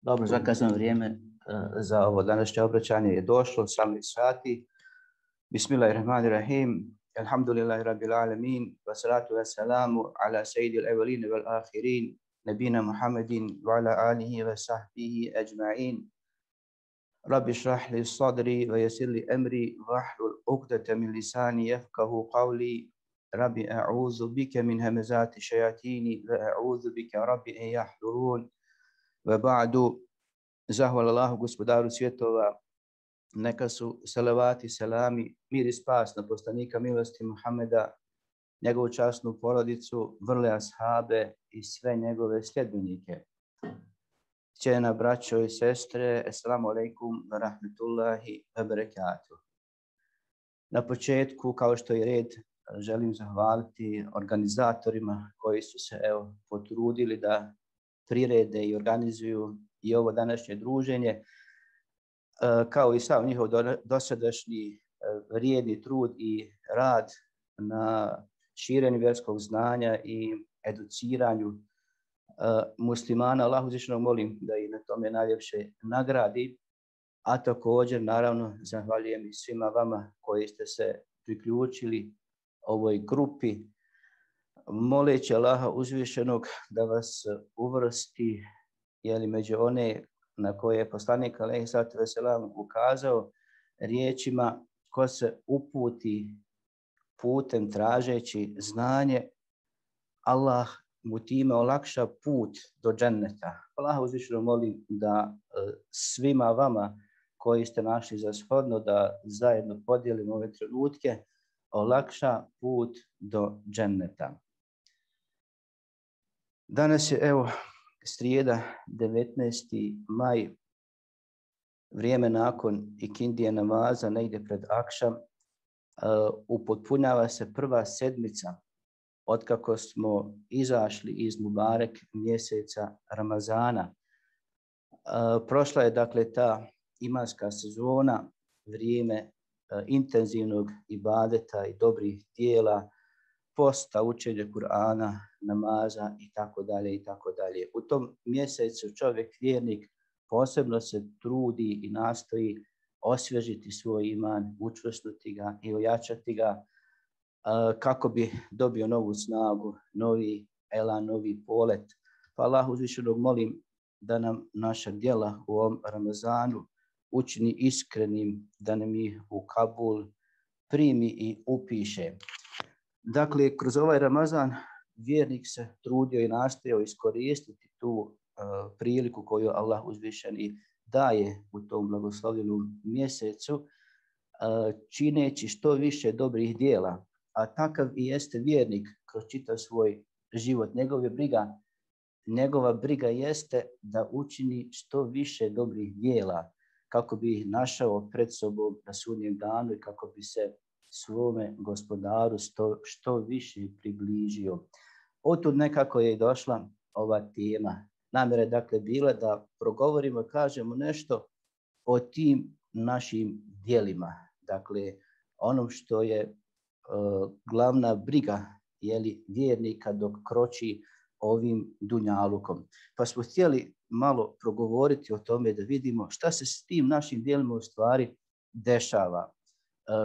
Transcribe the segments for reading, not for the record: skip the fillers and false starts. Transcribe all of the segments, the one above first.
Dobro, zakazano vrijeme za ovo današnje obraćanje je došlo, 18 sati. Bismillahirrahmanirrahim. Alhamdulillahi rabbil alamin. Wassalatu wassalamu ala sayyidil awwalin wal akhirin. Nabina Muhammadin wa ala alihi wa sahbihi ajma'in. Rabbi shrah li sadri wa yassir li amri wahlul 'uqdatan min lisani yafqahu qawli. Rabbi a'udhu bika min hamazati shayatini wa a'udhu bika rabbi an yahdurun. Wa ba'du, zahvala Allahu gospodaru svjetova, neka su salavati, salami, mir i spas na poslanika milosti Muhameda, njegovu časnu porodicu, vrle ashabe i sve njegove sljedbenike. Cijenjena braćo i sestre, assalamu alaikum wa rahmetullahi wa barakatuh. Na početku, kao što je red, želim zahvaliti organizatorima koji su se potrudili da prirede i organizuju i ovo današnje druženje, kao i sav njihov dosadašnji vrijedni trud i rad na širenju vjerskog znanja i educiranju muslimana. Allah uzvišeno molim da i na tome najljepše nagradi, a također naravno zahvaljujem i svima vama koji ste se priključili ovoj grupi, moleći Allaha uzvišenog da vas uvrsti među one na koje je poslanik alejhi salatu vesselam ukazao riječima: ko se uputi putem tražeći znanje, Allah mu time olakša put do dženneta. Allaha uzvišenog molim da svima vama koji ste našli za shodno da zajedno podijelimo ove trenutke, olakša put do dženneta. Danas je srijeda 19. maj, vrijeme nakon ikindije namaza, negdje pred akšam, upotpunjava se prva sedmica otkako smo izašli iz Mubarek mjeseca Ramazana. Prošla je dakle ta imanska sezona, vrijeme intenzivnog ibadeta i dobrih dijela, posta, učenja Kur'ana, namaza i tako dalje i tako dalje. U tom mjesecu čovjek vjernik posebno se trudi i nastoji osvježiti svoj iman, učvrstiti ga i ojačati ga kako bi dobio novu snagu, novi elan, novi polet. Pa Allah uzvišenog molim da nam naša djela u ovom Ramazanu učini iskrenim, da nam ih u Kabul primi i upiše. Dakle, kroz ovaj Ramazan vjernik se trudio i nastojao iskoristiti tu priliku koju Allah uzvišeni daje u tom blagoslovljenom mjesecu, čineći što više dobrih dijela. A takav i jeste vjernik kroz čitav svoj život. Njegova briga jeste da učini što više dobrih dijela kako bi ih našao pred sobom na sudnjem danu i kako bi se svome gospodaru što više približio. Otud nekako je došla ova tema. Namjera je dakle bila da progovorimo, kažemo nešto o tim našim djelima. Dakle, onom što je glavna briga vjernika dok kroči ovim dunjalukom. Pa smo htjeli malo progovoriti o tome da vidimo šta se s tim našim djelima u stvari dešava.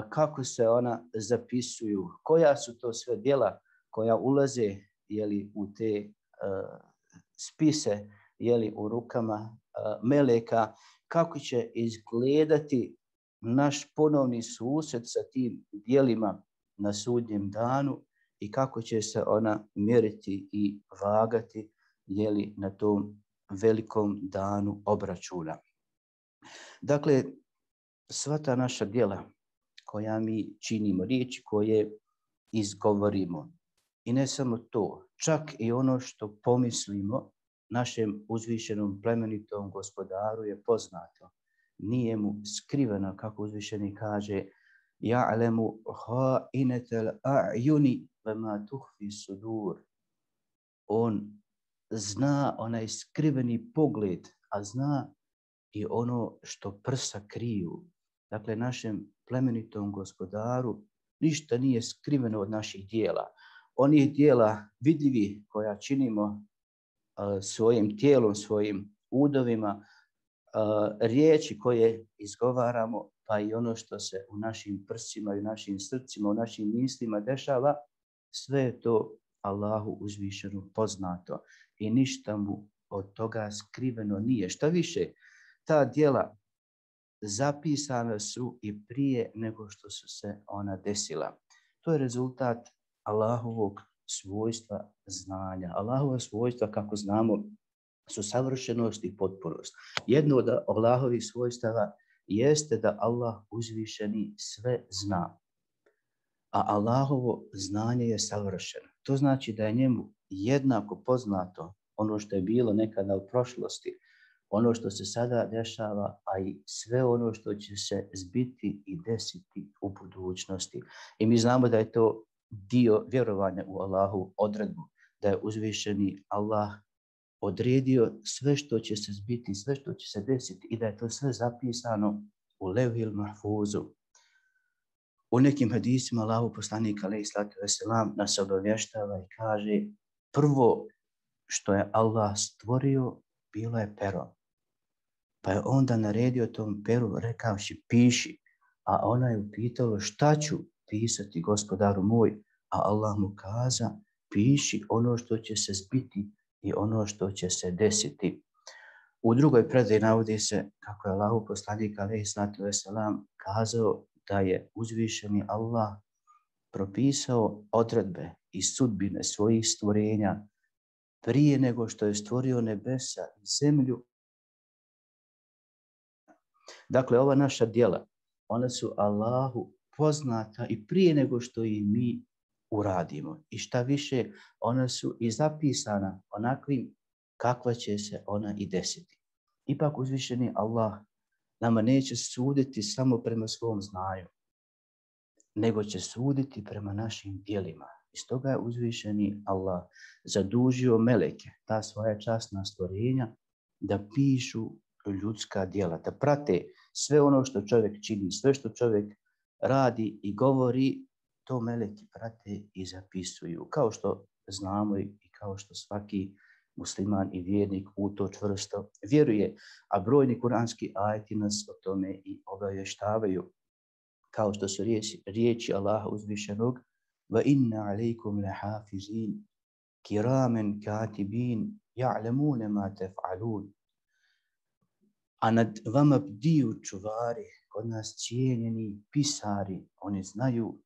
Kako se ona zapisuju, koja su to sve djela koja ulaze u te spise u rukama meleka, kako će izgledati naš ponovni susret sa tim djelima na sudnjem danu i kako će se ona mjeriti i vagati na tom velikom danu obračuna. Dakle, sva ta naša djela koja mi činimo, riječi koje izgovorimo, i ne samo to, čak i ono što pomislimo našem uzvišenom plemenitom gospodaru je poznato. Nije mu skriveno, kako uzvišeni kaže: ja'lemu ha'inetel a'yuni wa ma tuhfi sudur. On zna onaj skriveni pogled, a zna i ono što prsa kriju. Dakle, našem plemenitom gospodaru ništa nije skriveno od naših dijela. Onih dijela vidljivih koja činimo svojim tijelom, svojim udovima, riječi koje izgovaramo, pa i ono što se u našim prsima i u našim srcima, u našim mislima dešava, sve je to Allahu uzvišeno poznato i ništa mu od toga skriveno nije. Šta više, ta djela zapisana su i prije nego što su se ona desila. To je rezultat Allahovog svojstva znanja. Allahova svojstva, kako znamo, su savršenost i potpunost. Jedno od Allahovih svojstava jeste da Allah uzvišeni sve zna. A Allahovo znanje je savršeno. To znači da je njemu jednako poznato ono što je bilo nekada u prošlosti, ono što se sada dešava, a i sve ono što će se zbiti i desiti u budućnosti. I mi znamo da je to dio vjerovanja u Allahu odredbu, da je uzvišeni Allah odredio sve što će se zbiti, sve što će se desiti i da je to sve zapisano u Levhil Mahfuzu. U nekim hadisima Allahu poslanik alejhi salatu vesselam nas obavještava i kaže: prvo što je Allah stvorio bilo je pero. Pa je onda naredio tom peru rekavši piši, a ona je upitala šta ću pisati gospodaru moj, a Allah mu kaza piši ono što će se zbiti i ono što će se desiti. U drugoj predaji navodi se kako je Allahu poslanik alejhi salatu vesselam kazao da je uzvišeni Allah propisao odredbe i sudbine svojih stvorenja prije nego što je stvorio nebesa i zemlju. Dakle, ova naša djela, ona su Allahu poznata i prije nego što i mi uradimo. I šta više, ona su i zapisana onakvim kakva će se ona i desiti. Ipak uzvišeni Allah nama neće suditi samo prema svom znanju, nego će suditi prema našim djelima. I stoga je uzvišeni Allah zadužio meleke, ta svoja časna stvorenja, da pišu ljudska djela, da prate sve ono što čovjek čini, sve što čovjek radi i govori, to meleki prate i zapisuju. Kao što znamo i kao što svaki musliman i vjernik u to čvrsto vjeruje, a brojni kuranski ajeti nas o tome i obavještavaju, kao što su riječi Allaha uzvišenog: wa inna alejkum lahafizin kiramen katibin ya'lamuna ma taf'alun. A nad vama bdiju čuvari, kod nas cijenjeni pisari, oni znaju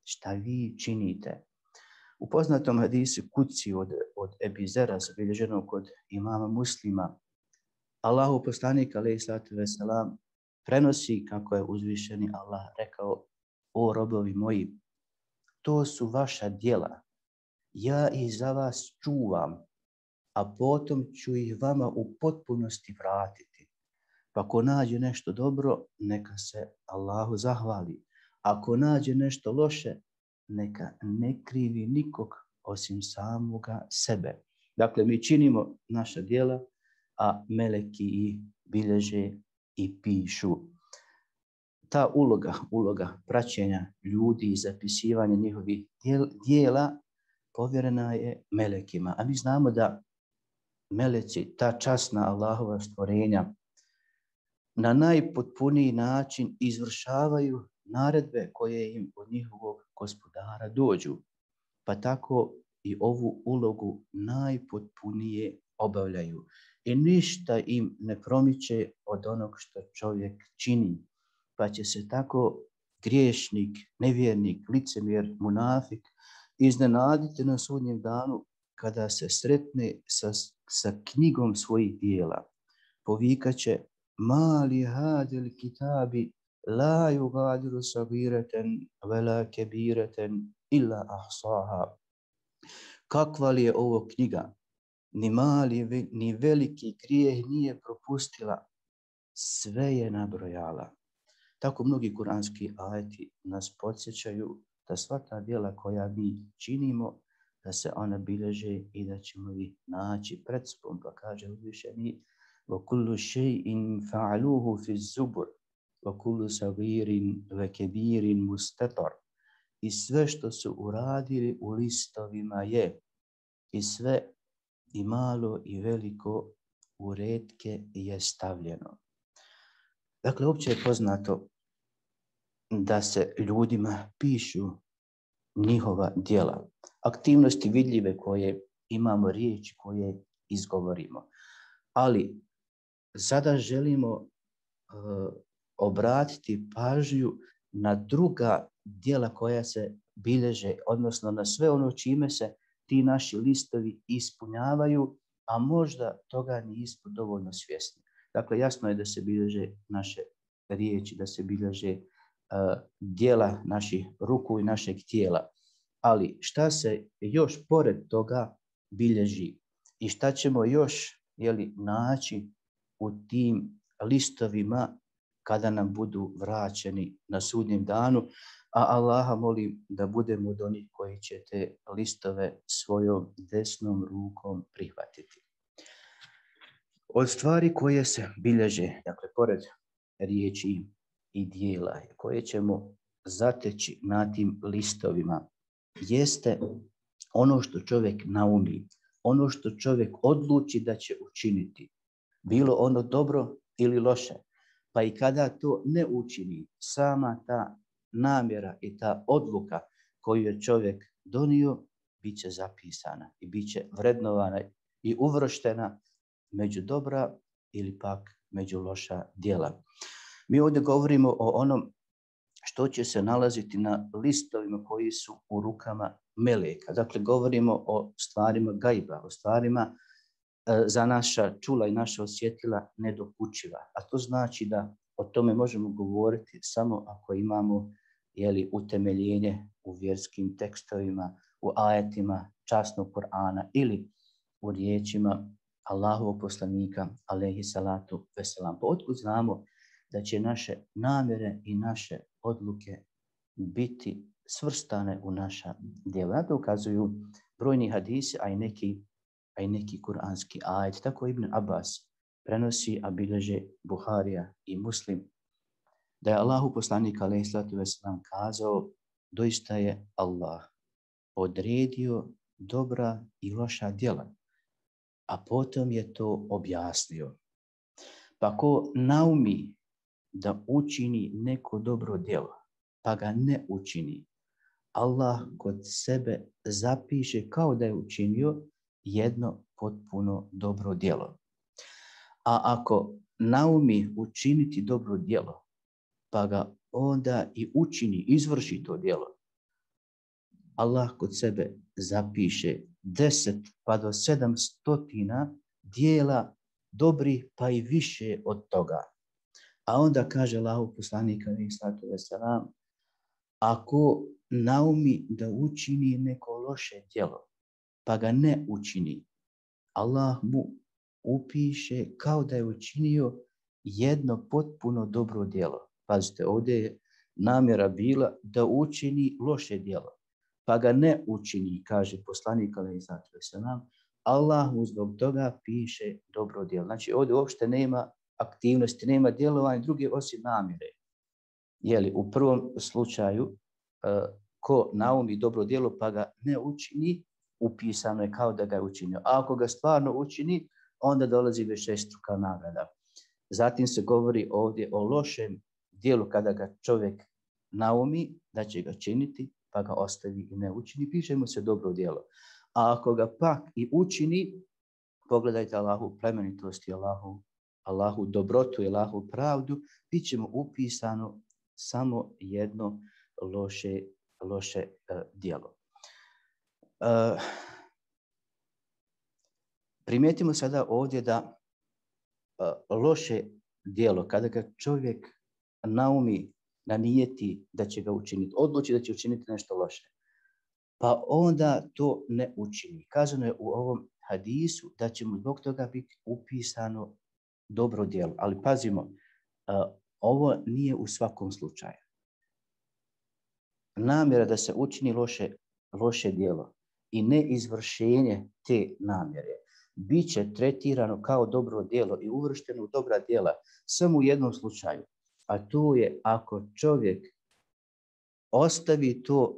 šta vi činite. U poznatom hadisu Kudsi od Ebi Zera, zabilježenog kod imama Muslima, Allahu poslanik alejhi salatu vesselam prenosi kako je uzvišeni Allah rekao: o robovi moji, to su vaša djela, ja ih za vas čuvam, a potom ću ih vama u potpunosti vratiti. Pa ko nađe nešto dobro, neka se Allahu zahvali. Ako nađe nešto loše, neka ne krivi nikog osim samoga sebe. Dakle, mi činimo naša djela, a meleki ih bilježe i pišu. Ta uloga praćenja ljudi i zapisivanja njihovih djela povjerena je melekima. A mi znamo da meleci, ta časna Allahova stvorenja, na najpotpuniji način izvršavaju naredbe koje im od njihovog gospodara dođu. Pa tako i ovu ulogu najpotpunije obavljaju. I ništa im ne promiče od onog što čovjek čini. Pa će se tako griješnik, nevjernik, licemjer, munafik iznenaditi na sudnjem danu kada se sretne sa knjigom svojih djela. Povikaće: mali hadil kitabi la yugadiru sagiratan wala kabiratan illa ahsaha. Kakva li je ovo knjiga? Ni mali ni veliki grijeh nije propustila, sve je nabrojala. Tako mnogi kuranski ajeti nas podsjećaju da sva ta djela koja mi činimo, da se ona bilježe i da ćemo ih naći pred sobom. Pa kaže uzvišeni: وَكُلُّ شَيْءٍ فَعَلُوهُ فِي الزُّبُرِ وَكُلُّ صَغِيرٍ وَكَبِيرٍ مُسْتَطَرٍ. I sve što su uradili u listovima je, i sve i malo i veliko u retke je stavljeno. Dakle, opće je poznato da se ljudima pišu njihova djela, aktivnosti vidljive koje imamo, riječi koje izgovorimo. Ali sada želimo obratiti pažnju na druga djela koja se bilježe, odnosno na sve ono čime se ti naši listovi ispunjavaju, a možda toga nismo dovoljno svjesni. Dakle, jasno je da se bilježe naše riječi, da se bilježe djela naših ruku i našeg tijela. Ali šta se još pored toga bilježi i šta ćemo još naći u tim listovima kada nam budu vraćeni na sudnjem danu, a Allaha molim da budemo od onih koji će te listove svojom desnom rukom prihvatiti. Od stvari koje se bilježe, dakle, pored riječi i dijela koje ćemo zateći na tim listovima, jeste ono što čovjek naumi, ono što čovjek odluči da će učiniti, bilo ono dobro ili loše. Pa i kada to ne učini, sama ta namjera i ta odluka koju je čovjek donio, bit će zapisana i bit će vrednovana i uvrštena među dobra ili pak među loša djela. Mi ovdje govorimo o onom što će se nalaziti na listovima koji su u rukama meleka. Dakle, govorimo o stvarima gajba, o stvarima za naša čula i naša osjetila nedokučiva. A to znači da o tome možemo govoriti samo ako imamo utemeljenje u vjerskim tekstovima, u ajetima časnog Kur'ana ili u riječima Allahovog poslanika alejhi salatu veselam. Pa otkud znamo da će naše namjere i naše odluke biti svrstane u naša djela? Na to ukazuju brojni hadisi, a i neki kuranski ajet. Tako Ibn Abbas prenosi, a bilježe Buharija i Muslim, da je Allahu poslanik alejhi salatu veselam kazao: doista je Allah odredio dobra i loša djela, a potom je to objasnio. Pa ko naumi da učini neko dobro djelo, pa ga ne učini, Allah kod sebe zapiše kao da je učinio jedno potpuno dobro djelo. A ako naumi učiniti dobro djelo, pa ga onda i učini, izvrši to djelo, Allah kod sebe zapiše 10 pa do 700 djela dobrih, pa i više od toga. A onda kaže Allahov poslanik alejhi salatu vesselam: ako naumi da učini neko loše djelo, pa ga ne učini, Allah mu upiše kao da je učinio jedno potpuno dobro djelo. Pazite, ovdje je namjera bila da učini loše djelo, pa ga ne učini, kaže poslanik alejhi salatu vesselam, Allah mu zbog toga piše dobro djelo. Znači ovdje uopšte nema aktivnosti, nema djelovanja druge osim namjere. U prvom slučaju, ko naumi dobro djelo pa ga ne učini, upisano je kao da ga je učinio. A ako ga stvarno učini, onda dolazi višestruka nagrada. Zatim se govori ovdje o lošem djelu kada ga čovjek naumi da će ga činiti, pa ga ostavi i ne učini, piše mu se dobro djelo. A ako ga pak i učini, pogledajte Allahu plemenitost i Allahu dobrotu i Allahu pravdu, bit će mu upisano samo jedno loše djelo. Primijetimo sada ovdje da loše djelo, kada ga čovjek naumi, nanijeti da će ga učiniti, odluči da će učiniti nešto loše, pa onda to ne učini. Kazano je u ovom hadisu da će mu zbog toga biti upisano dobro djelo. Ali pazimo, ovo nije u svakom slučaju. Namjera da se učini loše djelo i neizvršenje te namjere bit će tretirano kao dobro djelo i uvršteno u dobra djela samo u jednom slučaju, a to je ako čovjek ostavi to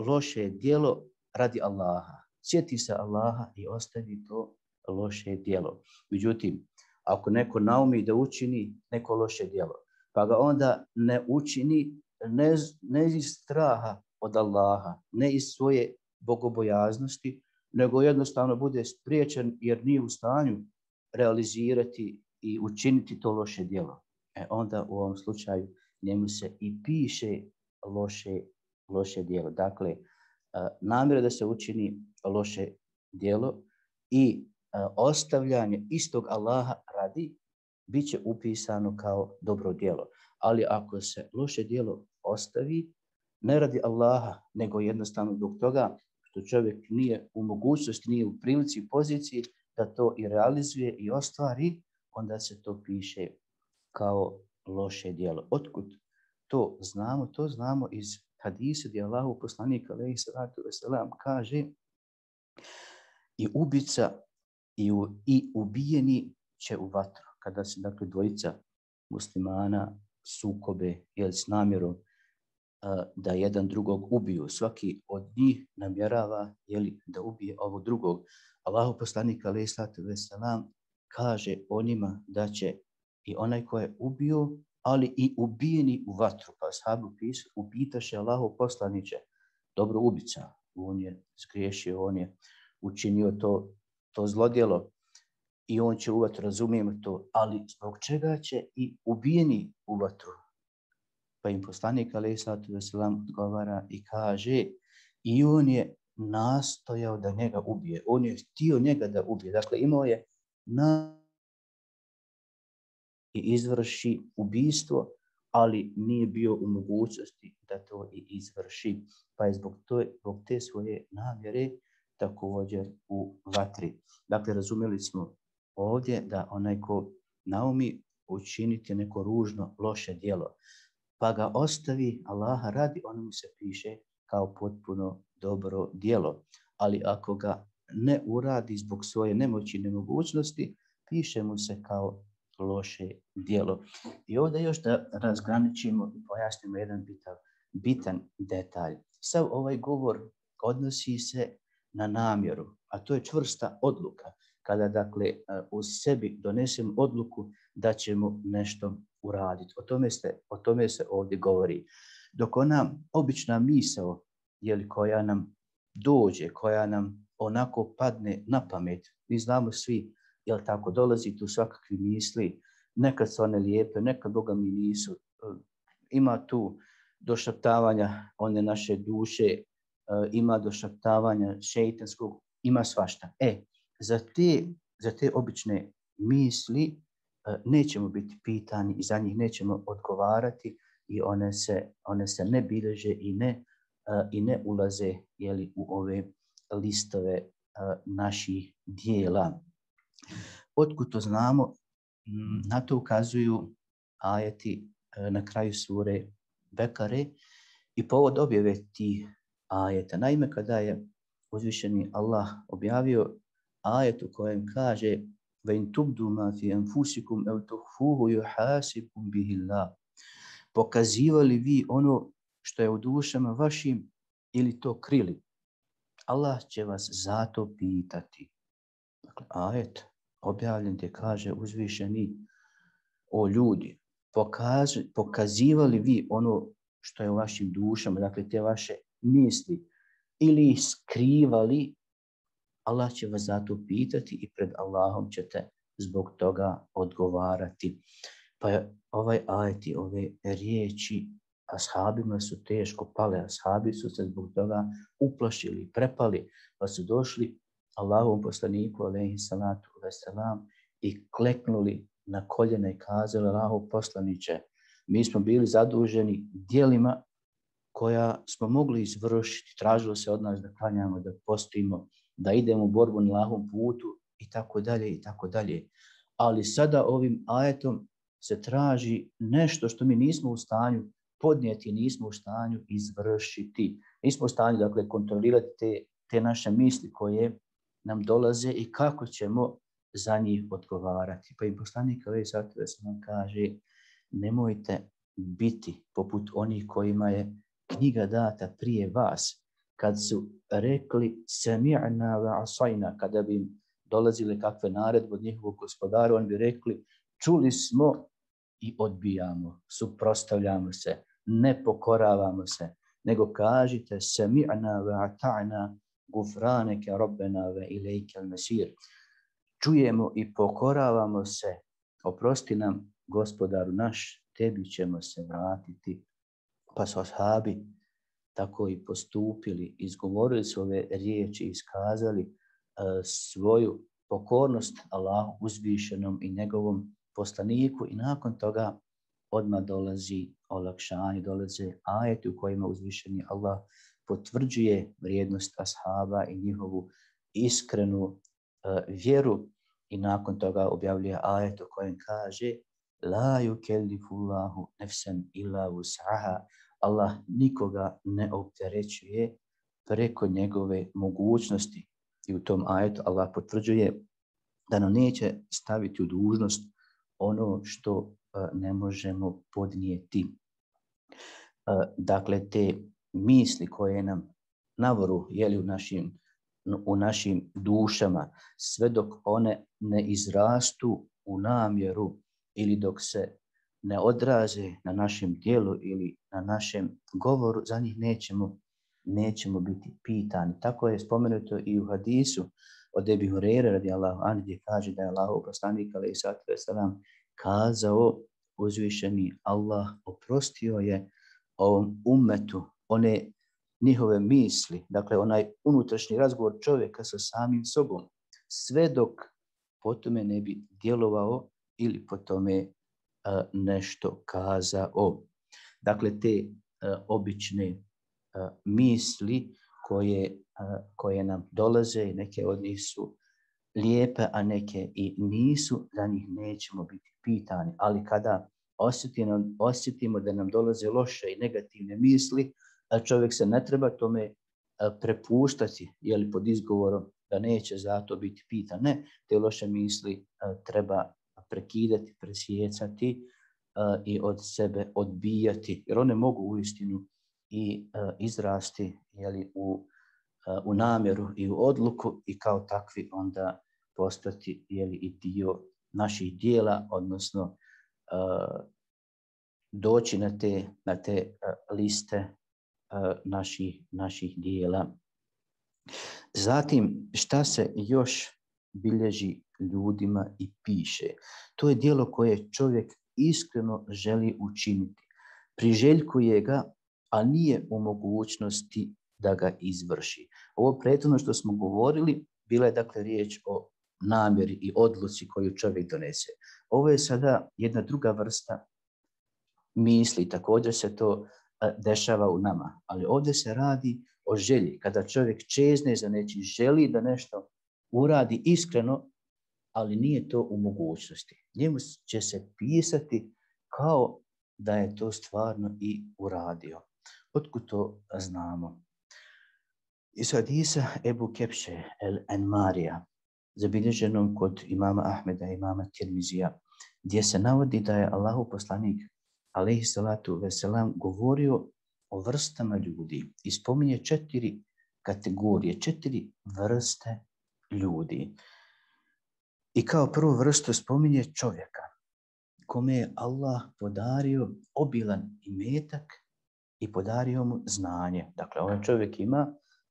loše djelo radi Allaha. Sjeti se Allaha i ostavi to loše djelo. Međutim, ako neko naumi da učini neko loše djelo, pa ga onda ne učini ne iz straha od Allaha, ne iz svoje bogobojaznosti, nego jednostavno bude spriječen jer nije u stanju realizirati i učiniti to loše djelo. Onda u ovom slučaju njemu se i piše loše djelo. Dakle, namjera da se učini loše djelo i ostavljanje istog Allaha radi bit će upisano kao dobro djelo. Ali ako se loše djelo ostavi, ne radi Allaha, nego jednostavno zbog toga što čovjek nije u mogućnosti, nije u prilici i poziciji da to i realizuje i ostvari, onda se to piše kao loše djelo. Otkud to znamo? To znamo iz hadisa gdje Allahov poslanik alejhi salatu vesselam kaže i ubica i ubijeni će u vatru. Kada se dakle dvojica muslimana sukobe s namjerom da jedan drugog ubiju. Svaki od njih namjerava da ubije ovog drugog. Allahov poslanik alejhi salatu vesselam kaže o njima da će i onaj ko je ubio, ali i ubijeni u vatru. Pa ashabi upitaše Allahov poslaniče, dobro ubica, on je zgriješio, on je učinio to zlodjelo i on će u vatru, razumijemo to, ali zbog čega će i ubijeni u vatru? Pa im poslanik alejhi salatu vesselam odgovara i kaže i on je nastojao da njega ubije. On je htio njega da ubije. Dakle, imao je i izvrši ubijstvo, ali nije bio u mogućnosti da to i izvrši. Pa je zbog te svoje namjere također u vatri. Dakle, razumjeli smo ovdje da onaj ko naumi učiniti neko ružno, loše djelo, pa ga ostavi Allaha radi, ono mu se piše kao potpuno dobro djelo. Ali ako ga ne uradi zbog svoje nemoći i nemogućnosti, piše mu se kao loše djelo. I ovdje još da razgraničimo i pojasnimo jedan bitan detalj. Sav ovaj govor odnosi se na namjeru, a to je čvrsta odluka. Kada dakle u sebi donesemo odluku da ćemo nešto uraditi. O tome se ovdje govori. Dok ona obična misao koja nam dođe, koja nam onako padne na pamet, mi znamo svi, jel tako, dolazi tu svakakvi misli, nekad su one lijepe, nekad Boga mi nisu. Ima tu došaptavanja one naše duše, ima došaptavanja šejtanskog, ima svašta. Za te obične misli nećemo biti pitani i za njih nećemo odgovarati i one se ne bilježe i ne ulaze u ove listove naših dijela. Otkud to znamo? Na to ukazuju ajeti na kraju sure Bekare i povod objave tih ajeta. Naime, kada je uzvišeni Allah objavio ajet u kojem kaže وَإِنْ تُبْدُوا مَا فِي أَنْفُسِكُمْ أَوْ تُخْفُوهُ يُحَاسِبْكُمْ بِهِ اللَّهُ. Pokazivali vi ono što je u dušama vašim ili to krili, Allah će vas zato pitati. Dakle, ajet objavljen gdje kaže uzvišeni o ljudi, pokazivali vi ono što je u vašim dušama, dakle te vaše misli, ili skrivali, Allah će vas zato pitati i pred Allahom ćete zbog toga odgovarati. Pa ovaj ajet i ove riječi ashabima su teško pale. Ashabi su se zbog toga uplašili, prepali, pa su došli Allahovom poslaniku alejhi salatu vesselam i kleknuli na koljena i kazali Allahov poslaniče, mi smo bili zaduženi djelima koja smo mogli izvršiti. Tražilo se od nas da klanjamo, da postimo, da idemo u borbu na Allahovom putu i tako dalje i tako dalje. Ali sada ovim ajetom se traži nešto što mi nismo u stanju podnijeti, nismo u stanju izvršiti. Nismo u stanju, dakle, kontrolirati te naše misli koje nam dolaze i kako ćemo za njih odgovarati. Pa im poslanik alejhi salatu vesselam kaže, nemojte biti poput onih kojima je knjiga data prije vas, kad su rekli sami'na wa asajna, kada bi im dolazile kakve naredbe od njihovog gospodara, oni bi rekli čuli smo i odbijamo, suprotstavljamo se, ne pokoravamo se, nego kažite sami'na wa ata'na gufraneke rabbena wa ilejke al-masir. Čujemo i pokoravamo se, oprosti nam gospodaru naš, tebi ćemo se vratiti. Pa su ashabi tako i postupili, izgovorili su ove riječi, iskazali svoju pokornost Allahu uzvišenom i njegovom poslaniku i nakon toga odmah dolazi olakšanje, dolaze ajeti u kojima uzvišeni Allah potvrđuje vrijednost ashaba i njihovu iskrenu vjeru i nakon toga objavljuje ajet u kojem kaže la yukellifullahu nefsan illa wus'aha. Allah nikoga ne opterećuje preko njegove mogućnosti. I u tom ajetu Allah potvrđuje da nam neće staviti u dužnost ono što ne možemo podnijeti. Dakle, te misli koje nam navoru u našim dušama, sve dok one ne izrastu u namjeru ili dok se ne odraze na našem djelu ili na našem govoru, za njih nećemo biti pitani. Tako je spomenuto i u hadisu od Ebi Hureyre radijallahu anhu, gdje kaže da je Allahov poslanik alejhi salatu vesselam kazao, uzvišeni Allah oprostio je ovom ummetu one njihove misli, dakle onaj unutrašnji razgovor čovjeka sa samim sobom, sve dok po tome ne bi djelovao ili po tome nešto kazao. Dakle, te obične misli koje nam dolaze, neke od njih su lijepe, a neke i nisu, za njih nećemo biti pitani. Ali kada osjetimo da nam dolaze loše i negativne misli, čovjek se ne treba tome prepuštati, jeli pod izgovorom da neće zato biti pitan. Ne, te loše misli treba prekidati, presjecati i od sebe odbijati, jer one mogu uistinu i izrasti, jeli, u namjeru i u odluku i kao takvi onda postati, jeli, i dio naših dijela, odnosno doći na te liste naših dijela. Zatim, šta se još bilježi ljudima i piše? To je djelo koje čovjek iskreno želi učiniti. Priželjkuje ga, a nije u mogućnosti da ga izvrši. Ovo prethodno što smo govorili, bila je dakle riječ o namjeri i odluci koju čovjek donese. Ovo je sada jedna druga vrsta misli, također se to dešava u nama, ali ovdje se radi o želji. Kada čovjek čezne za nečim, želi da nešto uradi iskreno, ali nije to u mogućnosti. Njemu će se pisati kao da je to stvarno i uradio. Otkud to znamo? Iz hadisa Ebu Kepše el-Enmarija, zabilježenom kod imama Ahmeda i imama Tirmizija, gdje se navodi da je Allahov poslanik alejhi salatu veselam govorio o vrstama ljudi i spominje 4 kategorije, 4 vrste ljudi. I kao prvu vrstu spominje čovjeka kome je Allah podario obilan imetak i podario mu znanje. Dakle, ovaj čovjek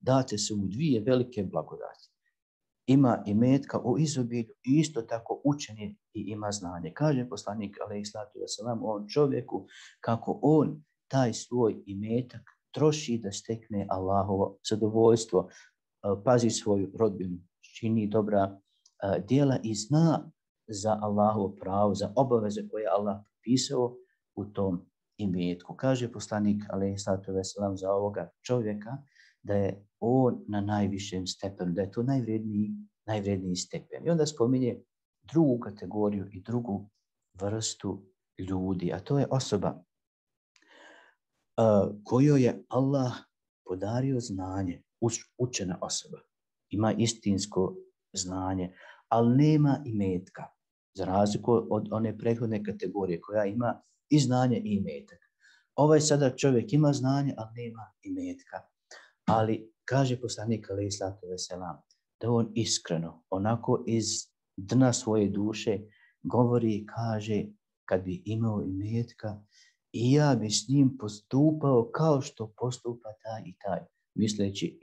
date su mu 2 velike blagodati. Ima imetka u izobilju i isto tako učen je i ima znanje. Kaže poslanik alejhi salatu vesselam on čovjeku kako on taj svoj imetak troši da stekne Allahovo zadovoljstvo, pazi svoju rodbinu, čini dobra djela i zna za Allahovo pravo, za obaveze koje je Allah propisao u tom imetku. Kaže poslanik alejhi salatu vesselam za ovoga čovjeka da je on na najvišem stepenu, da je to najvredniji stepen. I onda spominje drugu kategoriju i drugu vrstu ljudi, a to je osoba kojoj je Allah podario znanje, učena osoba, ima istinsko znanje, ali nema imetka, za razliku od one prethodne kategorije koja ima i znanje i imetak. Ovaj sada čovjek ima znanje, ali nema imetka. Ali kaže poslanik alejhi salatu vesselam da on iskreno, onako iz dna svoje duše govori i kaže kad bi imao imetka i ja bi s njim postupao kao što postupa taj i taj, misleći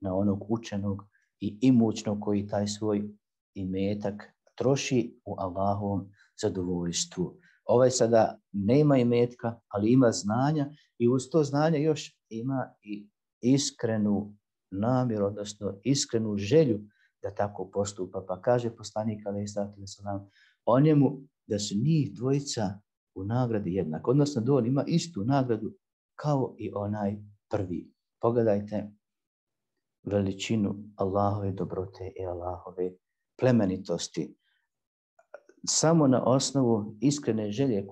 na onog učenog i imućnog koji taj svoj imetak troši u Allahovom zadovoljstvu. Ovaj sada nema imetka, ali ima znanja i uz to znanje još ima i iskrenu namjeru, odnosno iskrenu želju da tako postupa. Pa kaže poslanik alejhi salatu vesselam o njemu da su njih dvojica u nagradi jednak, odnosno da on ima istu nagradu kao i onaj prvi. Pogledajte veličinu Allahove dobrote i Allahove plemenitosti. Samo na osnovu iskrene želje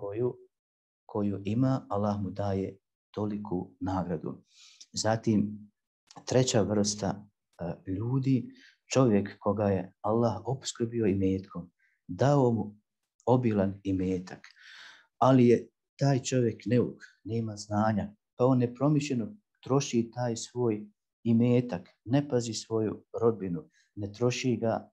koju ima, Allah mu daje toliku nagradu. Zatim, treća vrsta ljudi, čovjek koga je Allah opskrbio imetkom, dao mu obilan imetak, ali je taj čovjek neuk, nema znanja, pa on nepromišljeno troši taj svoj imetak, ne pazi svoju rodbinu, ne troši ga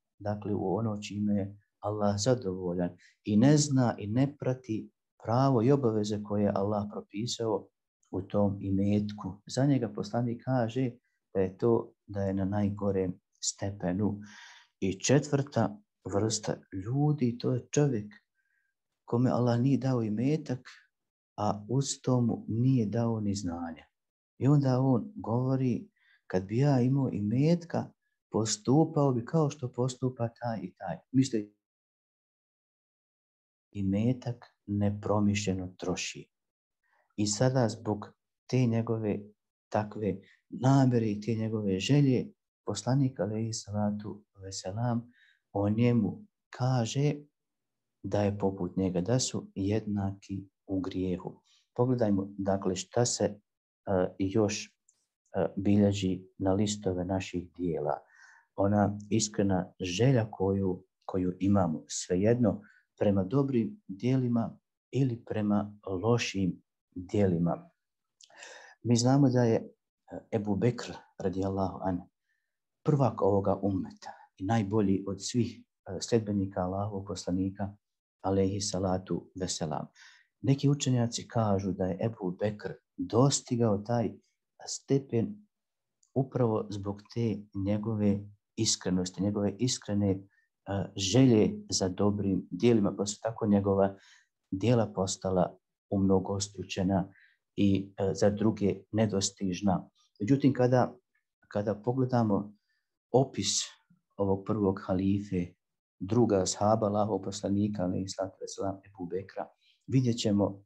u ono čime je Allah zadovoljan i ne zna i ne prati pravo i obaveze koje je Allah propisao u tom imetku. Za njega poslanik kaže da je na najgorem stepenu. I četvrta vrsta ljudi, to je čovjek kome Allah nije dao imetak, a uz tomu nije dao ni znanja. I onda on govori, kad bi ja imao imetka, postupao bi kao što postupa taj i taj. Misli, imetak nepromišljeno troši. I sada zbog te njegove takve namjere i te njegove želje, poslanik alejhi salatu vesselam o njemu kaže da je poput njega, da su jednaki u grijehu. Pogledajmo šta se još bilježi na listove naših dijela. Ona iskrena želja koju imamo, svejedno prema dobrim dijelima ili prema lošim dijelima. Mi znamo da je Ebu Bekr radijallahu anhu prvak ovoga ummeta i najbolji od svih sljedbenika Allahovog poslanika alejhi salatu vesselam. Neki učenjaci kažu da je Ebu Bekr dostigao taj stepen upravo zbog te njegove iskrenosti, njegove iskrene želje za dobrim dijelima, pa su tako njegova djela postala umnogostručena i za druge nedostižna. Međutim, kada pogledamo opis ovog prvog halife, druga ashaba Allahovog poslanika, alejhi salatu vesselam, Ebu Bekra, vidjet ćemo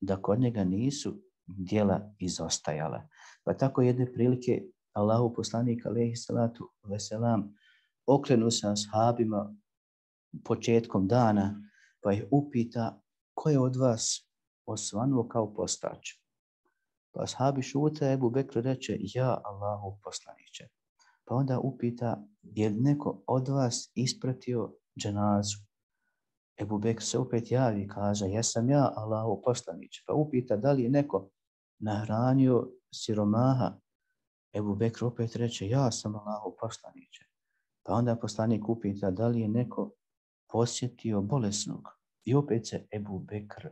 da kod njega nisu djela izostajala. Pa tako jedne prilike Allahov poslanik, alejhi salatu vesselam, okrenu se ashabima početkom dana, pa ih upita ko je od vas osvanuo kao postač. Pa ashabi šute, Ebu Bekr reče ja Allahov poslaniče. Pa onda upita je li neko od vas ispratio dženazu. Ebu Bekr se opet javi i kaže jesam ja Allahov poslaniče. Pa upita da li je neko nahranio siromaha. Ebu Bekr opet reče ja sam Allahov poslaniče. Pa onda poslanik upita da li je neko posjetio bolesnog. I opet se Ebu Bekr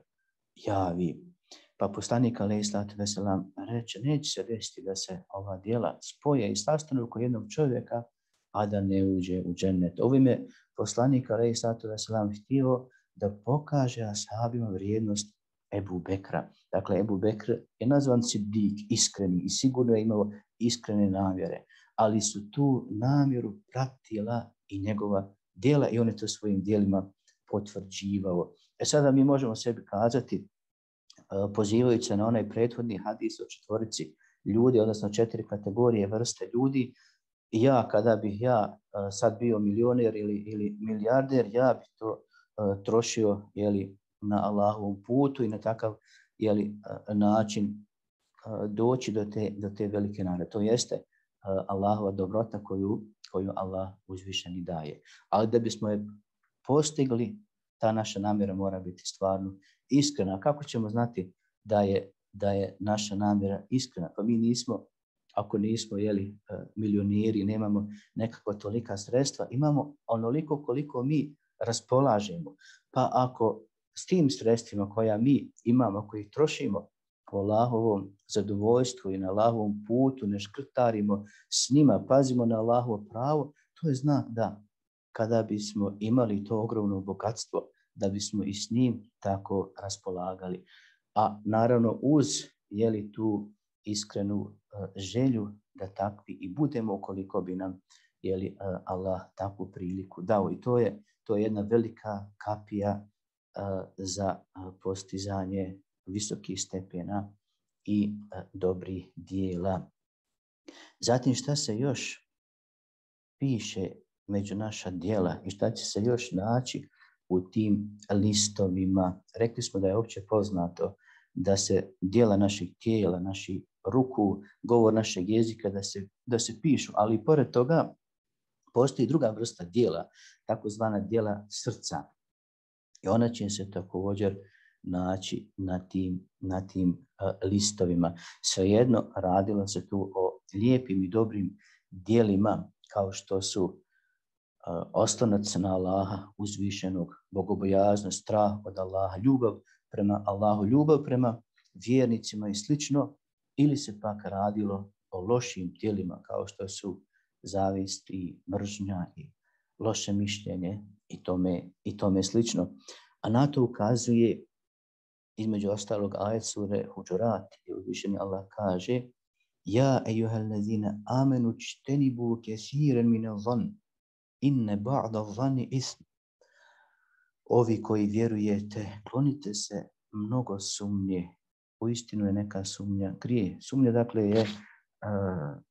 javi. Pa poslanik alejhi salatu vesselam reče neće se desiti da se ova djela spoje i sastanu oko jednog čovjeka, a da ne uđe u džennet. Ovim je poslanik alejhi salatu vesselam htio da pokaže ashabima vrijednost Ebu Bekra. Dakle, Ebu Bekr je nazvan Siddik, iskreni, i sigurno je imao iskrene namjere, ali su tu namjeru pratila i njegova djela i on je to svojim djelima potvrđivao. Sada mi možemo sebi kazati, pozivajući se na onaj prethodni hadis o četvorici ljudi, odnosno 4 kategorije vrste ljudi, ja kada bih ja sad bio milioner ili milijarder, ja bih to trošio na Allahovom putu i na takav način doći do te velike nagrade. To jeste Allahova dobrota koju Allah uzvišeni daje. Ali da bismo je postigli, ta naša namjera mora biti stvarno iskrena. Kako ćemo znati da je naša namjera iskrena? Pa mi nismo, ako nismo milioneri, nemamo nekakva tolika sredstva, imamo onoliko koliko mi raspolažemo. Pa ako s tim sredstvima koja mi imamo, koji trošimo po Allahovom zadovoljstvu i na Allahovom putu, ne škrtarimo s njima, pazimo na Allahovo pravo, to je znak da kada bismo imali to ogromno bogatstvo, da bismo i s njim tako raspolagali. A naravno uz tu iskrenu želju da takvi i budemo ukoliko bi nam Allah takvu priliku dao. I to je jedna velika kapija za postizanje visokih stepena i dobrih dijela. Zatim šta se još piše među naša djela i šta će se još naći u tim listovima. Rekli smo da je opće poznato da se djela naših tijela, naših ruku, govor našeg jezika da se pišu, ali i pored toga postoji druga vrsta djela, takozvana djela srca. I ona će se također naći na tim listovima. Svejedno radilo se tu o lijepim i dobrim djelima kao što su oslonac na Allaha, uzvišenog, bogobojaznost, strah od Allaha, ljubav prema Allahu, ljubav prema vjernicima i slično, ili se pak radilo o lošim djelima kao što su zavist i mržnja i loše mišljenje i tome slično. A na to ukazuje između ostalog ajet sure Huđurat, gdje uzvišeni Allah kaže: Ja ejuhallazina amenu čtenibu kesiren mine zan, inne ba'da zani ism. Ovi koji vjerujete, klonite se mnogo sumnje. Uistinu je neka sumnja grije. Sumnja dakle je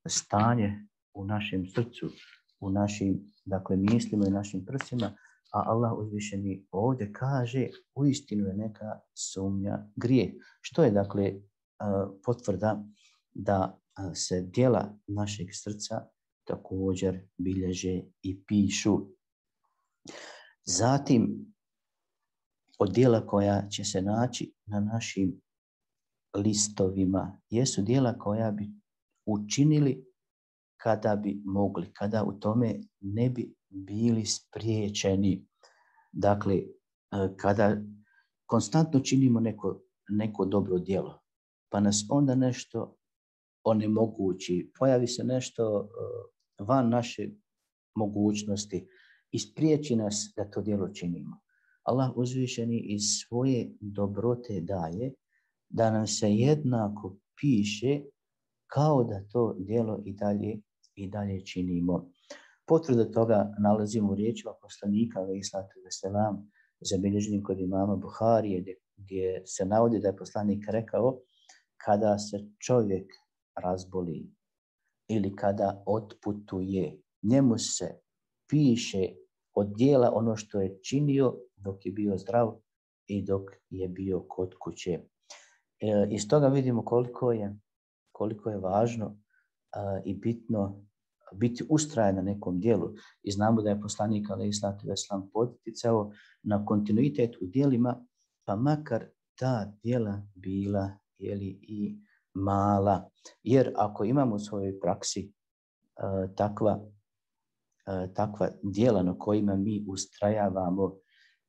stanje u našem srcu, u našim mislima i našim prsima, a Allah uzvišeni ovdje kaže uistinu je neka sumnja grije. Što je dakle potvrda da se djela našeg srca također bilježe i pišu. Zatim, od djela koja će se naći na našim listovima jesu djela koja bi učinili kada bi mogli, kada u tome ne bi bili spriječeni. Dakle, kada konstantno činimo neko dobro djelo, pa nas onda nešto onemogući, pojavi se nešto van naše mogućnosti i spriječi nas da to djelo činimo. Allah uzvišeni iz svoje dobrote daje da nam se jednako piše kao da to djelo i dalje činimo. Potvrdu toga nalazimo u riječima poslanika alejhi salatu vesselam, zabilježenim kod imama Buharije, gdje se navodi da je poslanik rekao: kada se čovjek razboli ili kada otputuje, njemu se piše od djela ono što je činio dok je bio zdrav i dok je bio kod kuće. Iz toga vidimo koliko je važno i bitno biti ustrajan na nekom djelu. I znamo da je poslanik alejhi salatu vesselam poticao na kontinuitet u djelima, pa makar ta djela bila i mala. Jer ako imamo u svojoj praksi takva djela na kojima mi ustrajavamo,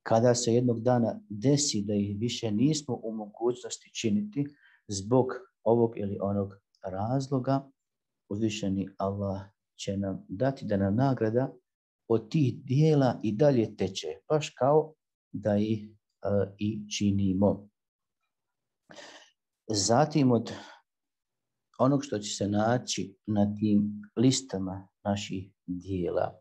kada se jednog dana desi da ih više nismo u mogućnosti činiti zbog ovog ili onog razloga, uzvišeni Allah će nam dati da nam nagrada od tih djela i dalje teče, baš kao da ih i činimo. Zatim od onog što će se naći na tim listama naših djela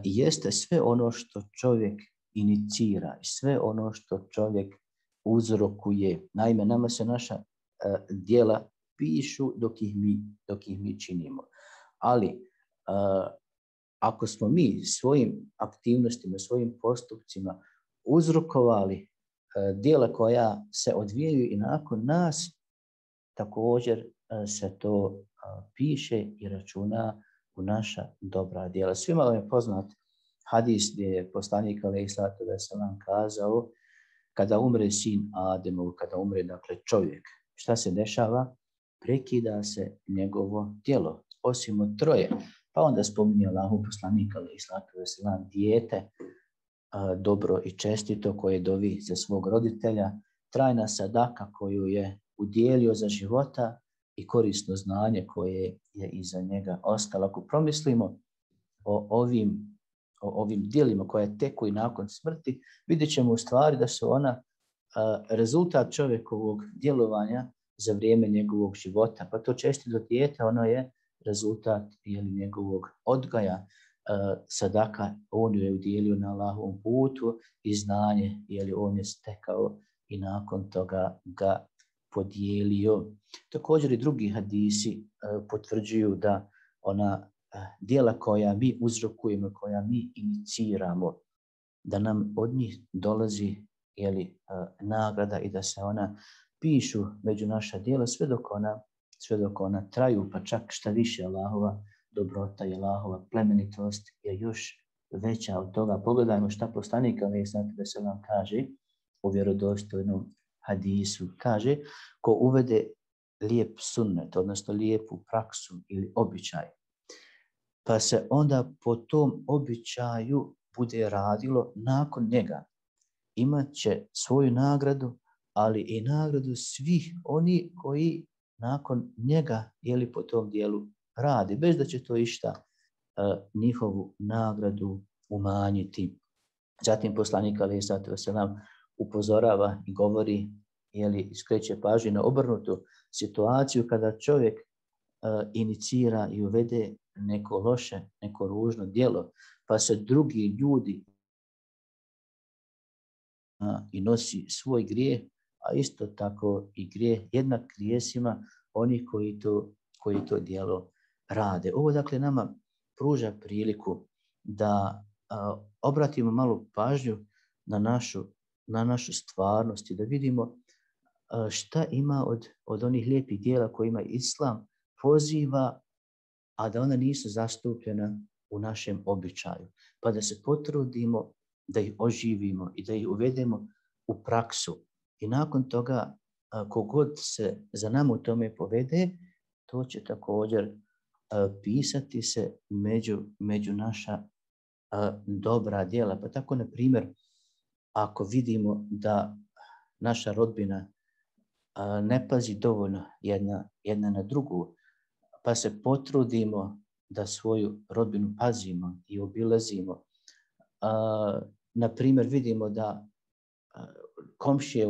jeste sve ono što čovjek inicira i sve ono što čovjek uzrokuje. Naime, nama se naša djela pišu dok ih mi činimo. Ali ako smo mi svojim aktivnostima, svojim postupcima uzrokovali djela koja se odvijaju i nakon nas, također se to piše i računa u naša dobra djela. Svima vam je poznat hadis gdje je poslanik alejhi salatu vesselam kazao: kada umre sin Ademov, kada umre dakle čovjek, šta se dešava? Prekida se njegovo djelo, osim od troje. Pa onda spominje Allahu poslanik alejhi salatu vesselam dijete dobro i čestito, koje dovi za svog roditelja, trajna sadaka koju je udjelio za života i korisno znanje koje je iza njega ostalo. Ako promislimo o ovim djelima koje teku i nakon smrti, vidjet ćemo u stvari da su ona rezultat čovjekovog djelovanja za vrijeme njegovog života. Pa to čestito dijete, ono je rezultat njegovog odgaja. Sadaka on je udjelio na Allahovom putu i znanje on je stekao i nakon toga ga podijelio. Također i drugi hadisi potvrđuju da ona djela koja mi uzrokujemo, koja mi iniciramo, da nam od njih dolazi nagrada i da se ona pišu među naša djela sve dok ona traju, pa čak šta više Allahova dobrota i Allahova plemenitost je još veća od toga. Pogledajmo šta poslanik alejhi salatu vesselam kaže u vjerodostojnom hadisu. Kaže, ko uvede lijep sunnet, odnosno lijepu praksu ili običaj, pa se onda po tom običaju bude radilo nakon njega, imat će svoju nagradu, ali i nagradu svih oni koji nakon njega po tom dijelu radi, bez da će to išta njihovu nagradu umanjiti. Zatim poslanik alejhi salatu vesselam upozorava i govori, skreće pažnju na obrnutu situaciju kada čovjek inicira i uvede neko loše, neko ružno djelo, pa se drugi ljudi i nosi svoj grijeh, a isto tako i grijeh jednak grijesima oni koji to djelo rade. Ovo dakle nama pruža priliku da obratimo malu pažnju na našu stvarnost i da vidimo šta ima od onih lijepih djela kojima Islam poziva, a da ona nisu zastupljena u našem običaju. Pa da se potrudimo da ih oživimo i da ih uvedemo u praksu. I nakon toga, kogod se za nama u tome povede, to će također pisati se među naša dobra djela. Pa tako, na primjer, ako vidimo da naša rodbina ne pazi dovoljno jedna na drugu, pa se potrudimo da svoju rodbinu pazimo i obilazimo. Na primjer, vidimo da komšije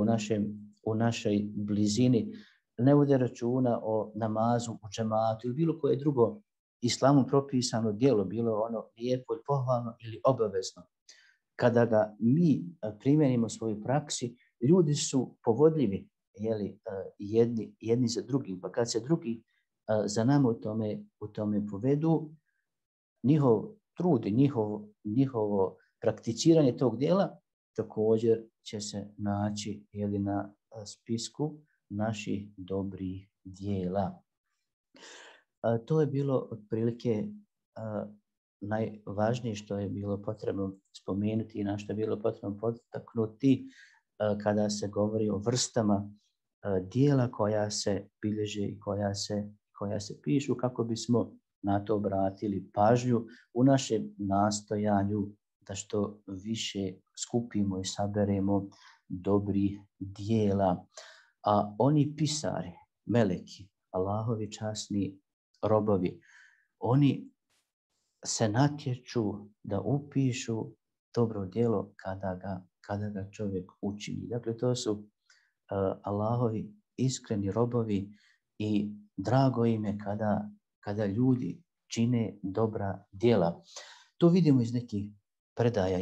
u našoj blizini ne vode računa o namazu u džematu ili bilo koje drugo islamom propisano djelo, bilo ono lijepo i pohvalno ili obavezno. Kada ga mi primjenimo u svojoj praksi, ljudi su povodljivi jedni za drugim, pa kad se drugi za nama u tome povedu, njihov trud i njihovo prakticiranje tog djela također će se naći na spisku naših dobrih djela. To je bilo otprilike najvažnije što je bilo potrebno spomenuti i na što je bilo potrebno potaknuti kada se govori o vrstama djela koja se bilježe i koja se pišu, kako bismo na to obratili pažnju u našem nastojanju da što više skupimo i saberemo dobrih djela. A oni pisari, meleki, Allahovi časni robovi, oni se natječu da upišu dobro djelo kada ga čovjek učini. Dakle, to su Allahovi iskreni robovi i drago im je kada ljudi čine dobra djela. To vidimo iz nekih predaja.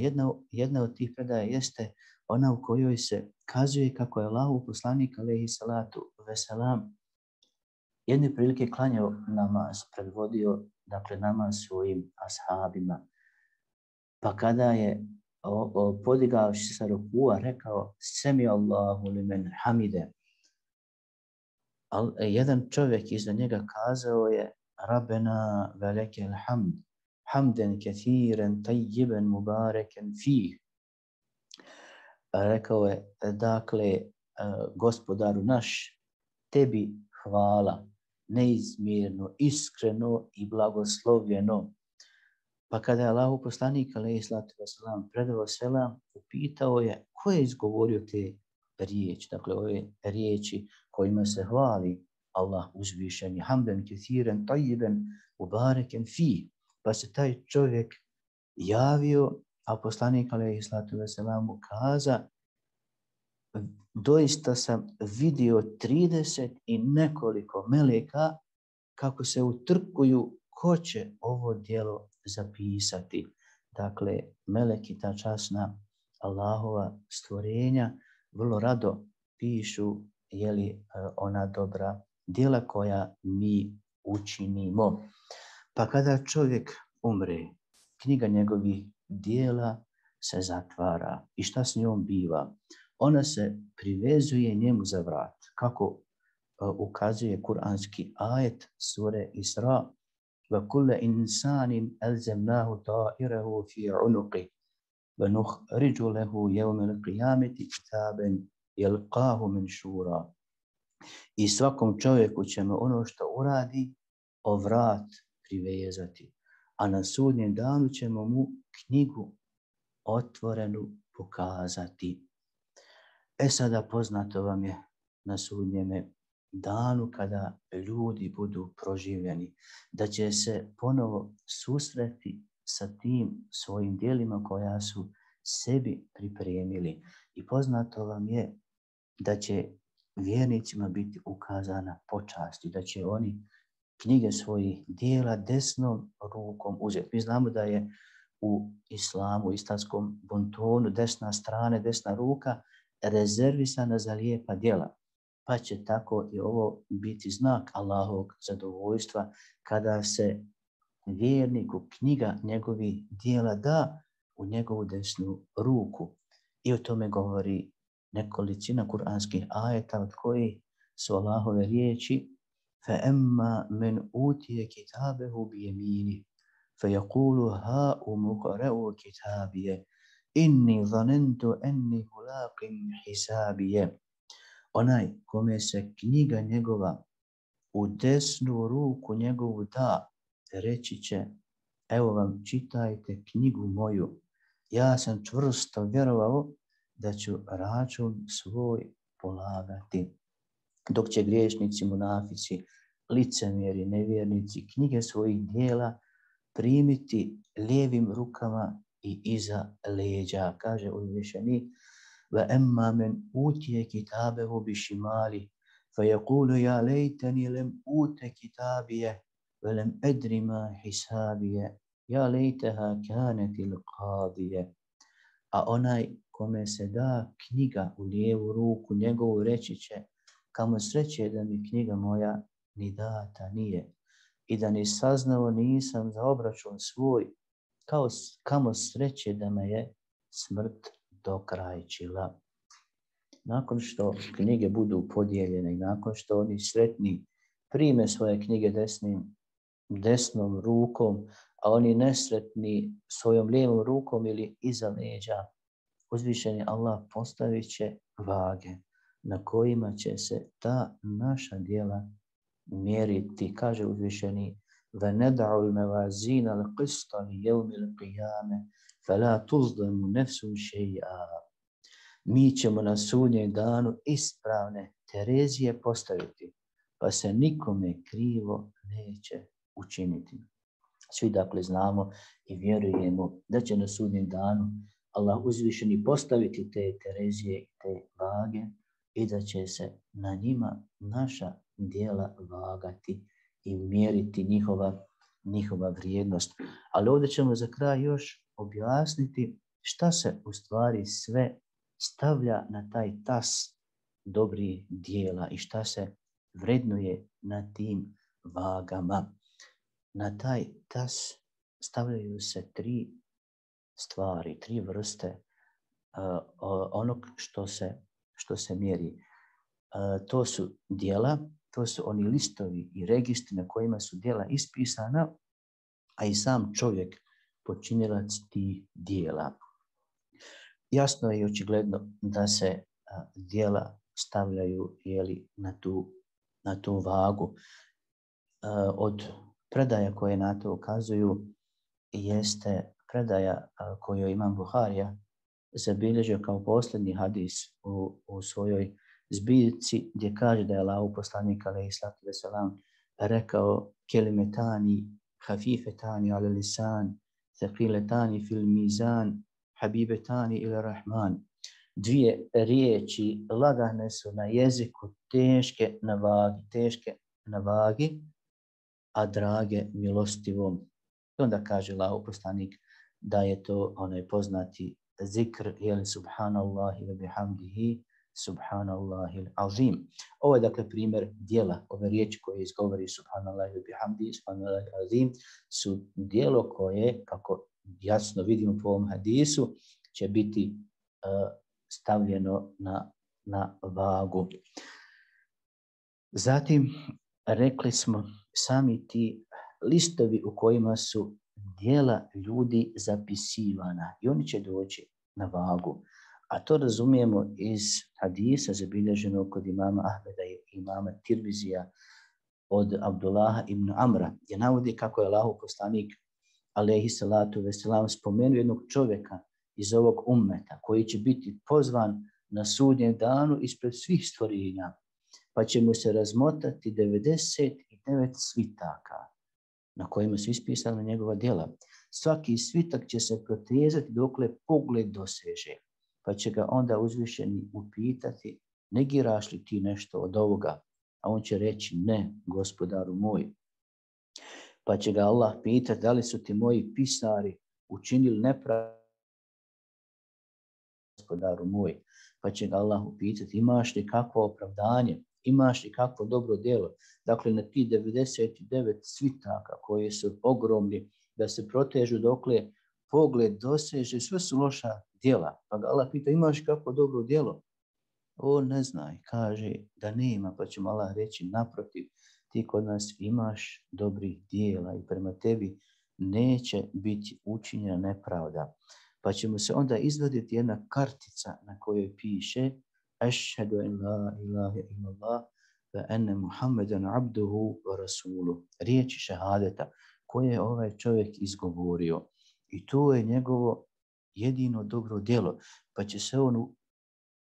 Jedna od tih predaja jeste ona u kojoj se kazuje kako je Allahov poslanik alejhi salatu vesselam jedne prilike klanjao namaz, predvodio namaz svojim ashabima. Pa kada je podigao se sa rukua, rekao semi Allahu limen hamide. Jedan čovjek iza njega kazao je Rabbena velekel hamd, hamden kethiren tajjiben mubareken fih. Rekao je, dakle, gospodaru naš, tebi hvala, neizmjerno, iskreno i blagoslovljeno. Pa kada je Allahu poslanik alejhi salatu vesselam predao selam, upitao je ko je izgovorio te riječi, dakle ove riječi kojima se hvali Allah uzvišeni, hamdan kesiran tayyiban mubarakan fi. Pa se taj čovjek javio, a poslanik alejhi salatu vesselam mu kaza: doista sam vidio 30 i nekoliko meleka kako se utrkuju ko će ovo djelo zapisati. Dakle, meleki, ta časna Allahova stvorenja, vrlo rado pišu ona dobra djela koja mi učinimo. Pa kada čovjek umre, knjiga njegovih djela se zatvara. I šta s njom biva? Ona se privezuje njemu za vrat. Kako ukazuje kuranski ajet sure Isra: وَكُلَّ إِنسَانٍ أَلْزَمْنَاهُ طَائِرَهُ فِي عُنُقِهِ وَنُخْرِجُ لَهُ يَوْمَ الْقِيَامَةِ كِتَابًا يَلْقَاهُ مَنْشُورًا. I svakom čovjeku ćemo ono što uradi o vrat privezati, a na sudnjem danu ćemo mu knjigu otvorenu pokazati. Sada poznato vam je na sudnjeme danu kada ljudi budu proživljeni, da će se ponovo susreti sa tim svojim djelima koja su sebi pripremili. I poznato vam je da će vjernicima biti ukazana počast i da će oni knjige svojih djela desnom rukom uzeti. Mi znamo da je u islamu, u islamskom bontonu, desna strana, desna ruka rezervisana za lijepa djela. Pa će tako i ovo biti znak Allahovog zadovoljstva kada se vjerniku knjiga njegovih djela da u njegovu desnu ruku. I o tome govori nekolicina kuranskih ajeta, od kojih su Allahove riječi: فَأَمَّا مَنْ أُوتِيَ كِتَابَهُ بِيَمِينِهِ فَيَقُولُ هَاؤُمُ اقْرَءُوا كِتَابِيَهْ إِنِّي ظَنَنْتُ أَنِّي مُلَاقٍ حِسَابِيَهْ. Onaj kome se knjiga njegova u desnu ruku njegovu da, reći će: evo vam, čitajte knjigu moju. Ja sam čvrsto vjerovao da ću račun svoj polagati. Dok će griješnici, munafici, licemjeri, nevjernici knjige svojih djela primiti lijevim rukama i iza leđa. Kaže uzvišenik: وَأَمَّا مَنْ أُوتِيَ كِتَابَهُ بِشِمَالِهِ فَيَقُولُ يَا لَيْتَنِي لَمْ أُوتَ كِتَابِيَهْ وَلَمْ أَدْرِ مَا حِسَابِيَهْ يَا لَيْتَهَا كَانَتِ الْقَاضِيَةَ. A onaj kome se da knjiga u lijevu ruku njegovu reći će: kamo sreće da mi knjiga moja ni data nije i da ni saznao nisam za obračun svoj, kamo sreće da me je smrt dokrajčila. Nakon što knjige budu podijeljene i nakon što oni sretni prime svoje knjige desnom rukom, a oni nesretni svojom lijevom rukom ili iza leđa, uzvišeni Allah postavit će vage na kojima će se ta naša djela mjeriti. Kaže uzvišeni: وَنَدَعُ الْمَوَازِينَ الْقِسْطَ لِيَوْمِ الْقِيَامَةِ فَلَا تُظْلَمُ نَفْسٌ شَيْئًا. Mi ćemo na sudnjem danu ispravne terezije postaviti, pa se nikome krivo neće učiniti. Svi dakle znamo i vjerujemo da će na sudnjem danu Allah uzvišeni postaviti te terezije i te vage i da će se na njima naša djela vagati i mjeriti njihova vrijednost. Ali ovdje ćemo za kraj još objasniti šta se u stvari sve stavlja na taj tas dobrih djela i šta se vrednuje na tim vagama. Na taj tas stavljaju se 3 stvari, 3 vrste onog što se mjeri. To su djela, to su oni listovi i registri na kojima su djela ispisana, a i sam čovjek počinilac tih djela. Jasno je i očigledno da se djela stavljaju na tu vagu. Od predaja koje na to ukazuju jeste predaja koju imam Buharija zabilježio kao posljednji hadis u svojoj zbirci, gdje kaže da je Allahov poslanik alejhi salatu vesselam rekao kelimetani hafifetani ala lisan thaqiletani fil mizan habibetani ila rahman. Dvije riječi lagane su na jeziku, teške na vagi, a drage milostivom. I onda kaže Allahov poslanik da je to onaj poznati zikr, jeli subhanallahi wa bihamdihi, subhanallahi azim. Ovo je dakle primjer djela. Ove riječi koje izgovori subhanallahi wa bihamdihi, subhanallahi azim, su djelo koje, kako jasno vidimo po ovom hadisu, će biti stavljeno na vagu. Zatim rekli smo sami ti listovi u kojima su djela ljudi zapisivana i oni će doći na vagu. A to razumijemo iz hadisa zabilježenog kod imama Ahmeda i imama Tirmizija od Abdullaha ibn Amra, gdje navodi kako je Allahov poslanik alejhi salatu vesselam spomenuo jednog čovjeka iz ovog ummeta koji će biti pozvan na sudnjem danu ispred svih stvorenja, pa će mu se razmotati 99 svitaka na kojima su ispisana njegova djela. Svaki svitak će se protezati dokle pogled doseže, pa će ga onda uzvišeni upitati, negiraš li ti nešto od ovoga? A on će reći, ne, gospodaru moj. Pa će ga Allah pitati, da li su ti moji pisari učinili nepravdu, gospodaru moj? Pa će ga Allah upitati, imaš li kakvo opravdanje? Imaš li kakvo dobro djelo? Dakle, na ti 99 svitaka koji su ogromni, da se protežu dokle pogled doseže, sve su loša djela. Pa ga Allah pita, imaš kakvo dobro djelo? On ne zna i kaže da nema, pa će mu Allah reći, naprotiv, ti kod nas imaš dobrih djela i prema tebi neće biti učinjena nepravda. Pa će mu se onda izvaditi jedna kartica na kojoj piše Ašhadu en la ilaha illallah wa enne Muhammeden abduhu wa rasuluh. Riječi šehadeta koje je ovaj čovjek izgovorio. I to je njegovo jedino dobro djelo. Pa će se on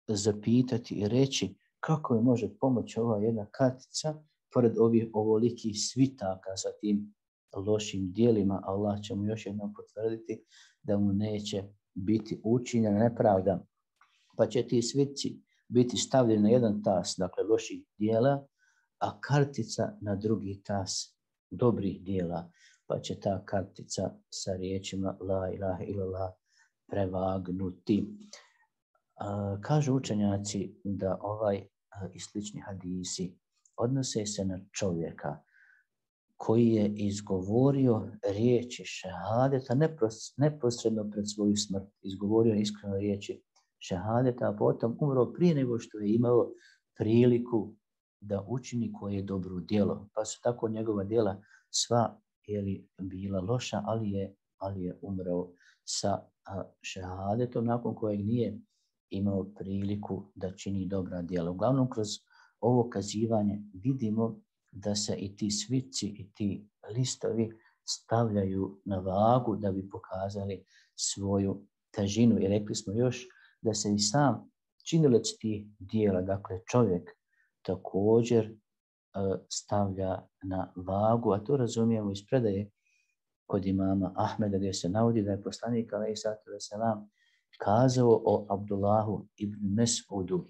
zapitati i reći kako je može pomoći ova jedna kartica pored ovih ovolikih svitaka sa tim lošim djelima. Allah će mu još jednom potvrditi da mu neće biti učinjena nepravda. Pa će ti svitci biti stavljeni na jedan tas, dakle loših djela, a kartica na drugi tas dobrih djela. Pa će ta kartica sa riječima la ilaha illallah prevagnuti. Kažu učenjaci da ovaj i slični hadisi odnose se na čovjeka koji je izgovorio riječi šehadeta neposredno pred svoju smrt. Izgovorio iskreno riječi šehadeta, a potom umro prije nego što je imao priliku da učini koje je dobro djelo. Pa su tako njegova djela sva bila loša, ali je umro sa šehadetom nakon kojeg nije imao priliku da čini dobra djela. Uglavnom, kroz ovo kazivanje vidimo da se i ti svitci i ti listovi stavljaju na vagu da bi pokazali svoju težinu. I rekli smo još da se i sam činilac tih djela, dakle čovjek, također stavlja na vagu, a to razumijemo iz predaje kod imama Ahmeda gdje se navodi da je poslanik alejhi salatu vesselam kazao o Abdullahu ibn Mes'udu.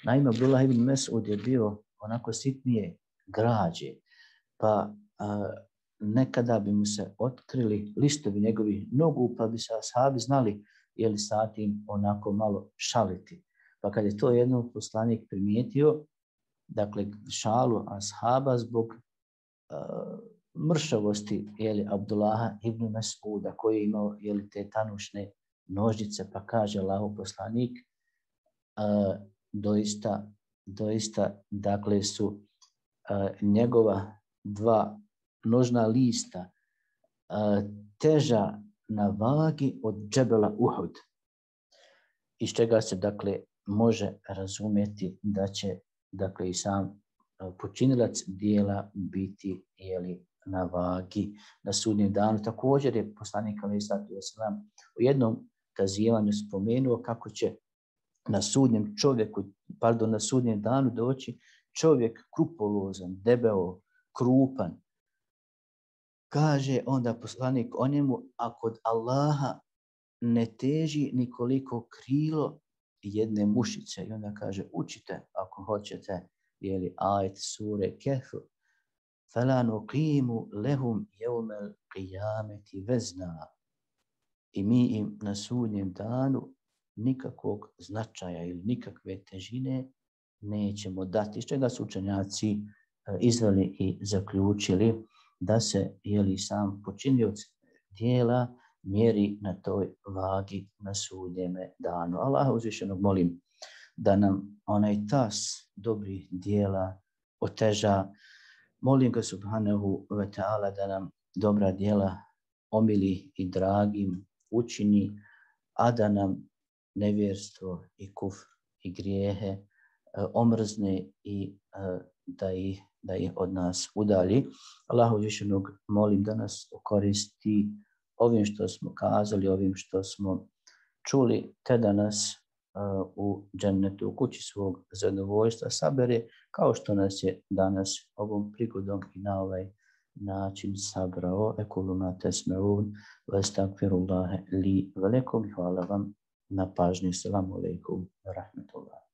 Naime, Abdullah ibn Mes'ud je bio onako sitnije građe, pa nekada bi mu se otkrili listovi njegovih nogu, pa bi se ashabi znali je li sa tim onako malo šaliti. Pa kad je to jednom poslanik primijetio, dakle šalu ashaba zbog mršavosti Abdullaha ibn Mes'uda koji je imao te tanušne nožnice, pa kaže Allahov poslanik, doista dakle su njegova dva nožna lista teža na vagi od džebela Uhud, iz čega se dakle može razumjeti da će dakle i sam počinilac dijela biti na vagi na sudnjem danu. Također je poslanik alejhi salatu vesselam u jednom kazivanju spomenuo kako će na sudnjem danu doći čovjek krupolozan, debeo, krupan. Kaže onda poslanik o njemu, a kod Allaha ne teži nikoliko krilo jedne mušice. I onda kaže, učite ako hoćete, ajet sure Kehf. فَلَا نُقِيمُ لَهُمْ يَوْمَ الْقِيَامَةِ وَزْنًا. I mi im na sudnjem danu nikakvog značaja ili nikakve težine nećemo dati. Iz čega su učenjaci izveli i zaključili da se sam počinioc dijela mjeri na toj vagi na sudnjeme danu. Allaha uzvišenog molim da nam onaj tas dobrih dijela oteža. Molim ga subhanahu wa ta'ala da nam dobra dijela omili i dragim učini, a da nam nevjerstvo i kufr i grijehe omrzne i da ih od nas udalji. Allahu uzvišenog molim da nas koristi ovim što smo kazali, ovim što smo čuli, te da nas u džennetu, u kući svog zadovoljstva sabere, kao što nas je danas ovom prigodom i na ovaj način sabrao. Ekulu ma tesmeun, wa astagfirullaha li wa lakum. Hvala vam na pažnji. Assalamu alaikum wa rahmatullah.